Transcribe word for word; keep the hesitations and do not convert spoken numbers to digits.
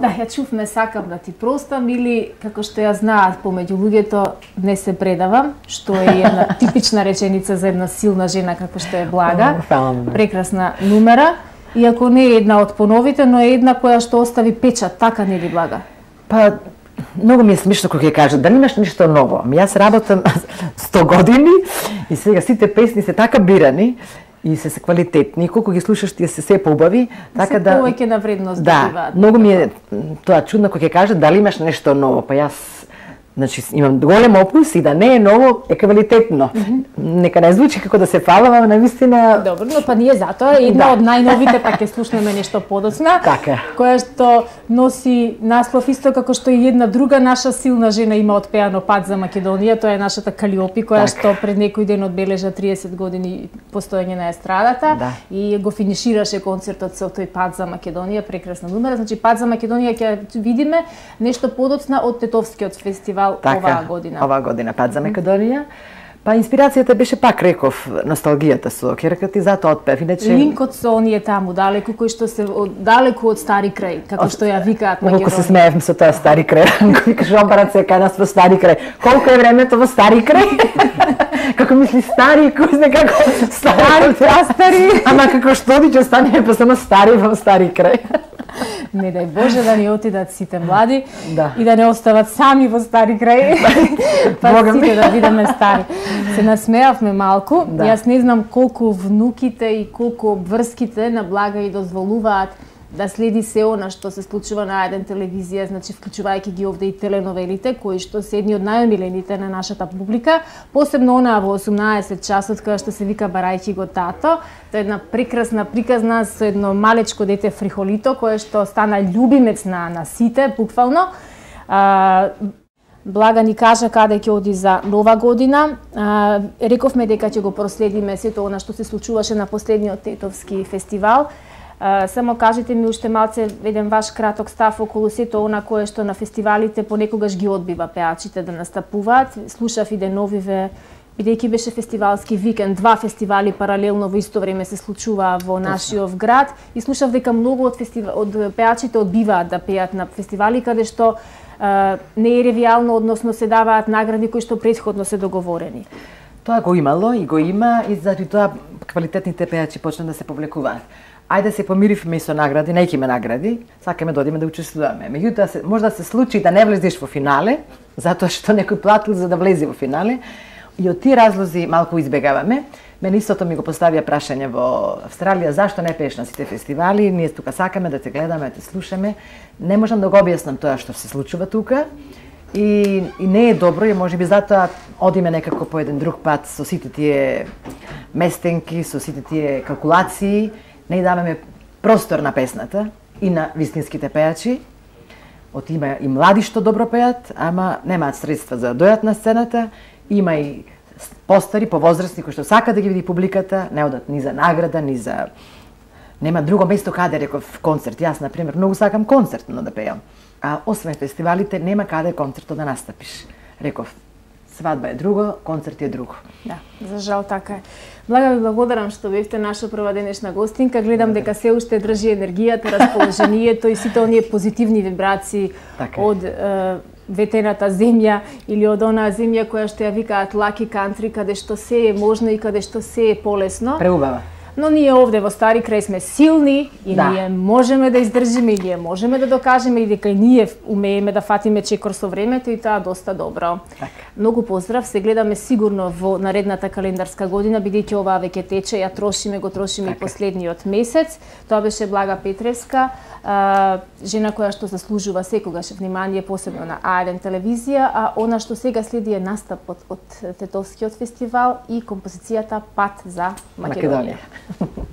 Да, ја чувме сакам да ти простам или како што ја знаат помеѓу луѓето не се предавам, што е една типична реченица за една силна жена како што е Блага. Прекрасна numera, иако не е една од поновите, но е една која што остави печат, така нели Блага? Па многу ми е смешно кога ќе кажат да немаш ништо ново. Ами јас работам сто години и сега сите песни се така бирани и се се квалитетни, колку ги слушаш тие се се поубави, така да повеќе на вредност да, добиваат. Многу ми е тоа чудно кога ќе кажат дали имаш нешто ново, па јас значи имам голем опус и да не е ново, е квалитетно. Mm -hmm. Нека не звучи како да се фалам, ама навистина. Добро, но па ние затоа една да. од најновите па ќе слушнеме нешто подоцна, така. Која што носи наслов исто како што и една друга наша силна жена има отпеано Пат за Македонија, тоа е нашата Калиопи која така. Што пред некој ден одбележа триесет години постоење на естрадата да. И го финишираше концертот со тој Пат за Македонија, прекрасна numera. Значи Пат за Македонија ќе видиме нешто подоцна од Тетовскиот фестивал. Така, оваа година. Оваа година Пат за Македонија. Па инспирацијата беше пак реков носталгијата со ќерката и затоа отпев. Иначе линкот со оние таму далеку кои што се од, далеку од стари крај, како што ја викаат Македонија. Колку се смеевме со тоа стари крај. Кој каже обарат се кај нас во стари крај. Колку е времето во стари крај? Како мисли стари, кој знае како стари, стари. Ама како што ќе стане па само стари во стари крај. Не дај Боже да ни отидат сите млади да. И да не остават сами во стари крај, па сите да бидеме стари. Се насмеавме малку, да. Јас не знам колку внуките и колку обврските на Блага и дозволуваат да следи се она што се случува на еден телевизија, значи вклучувајќи ги овде и теленовелите, кои што се едни од најомилените на нашата публика, посебно онаа во осумнаесет часот која што се вика Барајќи го тато. Тоа е една прекрасна приказна со едно малечко дете фрихолито кое што стана љубимец на на сите, буквално. А, Блага ни кажа каде ќе оди за нова година. А, рековме дека ќе го проследиме сето она што се случуваше на последниот Тетовски фестивал. Uh, само кажете ми уште малце еден ваш краток став околу сето она кое што на фестивалите понекогаш ги одбива пеачите да настапуваат. Слушав и деновиве, бидејќи беше фестивалски викенд, два фестивали паралелно во исто време се случуваа во нашиот град и слушав дека многу од фестива... од пеачите одбиваат да пеат на фестивали каде што uh, не е ревијално, односно се даваат награди кои што претходно се договорени. Тоа го имало и го има и заради тоа квалитетните пеачи почна да се повлекуваат. Ајде се помиривме со награди, не ќе има награди, сакаме да одиме да учествуваме. Меѓутоа се може да се случи да не влезеш во финале, затоа што некој платил за да влезе во финале. И од тие разлози малку избегаваме. Мене истото ми го поставија прашање во Австралија, зашто не пееш на сите фестивали, ние тука сакаме да те гледаме, да те слушаме. Не можам да го објаснам тоа што се случува тука. И, и не е добро, и можеби затоа одиме некако по еден друг пат со сите тие местенки, со сите тие калкулации. Не даваме простор на песната и на вистинските пеачи. Од има и млади што добро пеат, ама немаат средства за да дојат на сцената. Има и постари, повозрастни кои што сака да ги види публиката, не одат ни за награда, ни за нема друго место каде реков концерт. Јас на пример многу сакам концертно да пеам. А освен фестивалите нема каде концертот да настапиш. Реков свадба е друго, концерт е друго. Да, за жал така е. Блага ви благодарам што бевте наша прва денешна гостинка. Гледам дека се уште држи енергијата, расположението и сите оние позитивни вибрации така од е, ветената земја или од онаа земја која што ја викаат Lucky Country, каде што се е можно и каде што се е полесно. Преубава. Но ние овде во Стари крај сме силни и да. ние можеме да издржиме и ние можеме да докажеме и дека и ние умееме да фатиме чекор со времето и тоа доста добро. Так. Многу поздрав, се гледаме сигурно во наредната календарска година, бидејќи оваа веќе тече, ја трошиме, го трошиме так. И последниот месец. Тоа беше Блага Петревска, жена која што заслужува секогаш внимание, посебно на А еден телевизија, а она што сега следи е настапот од Тетовскиот фестивал и композицијата Пат за Македонија. Македонија.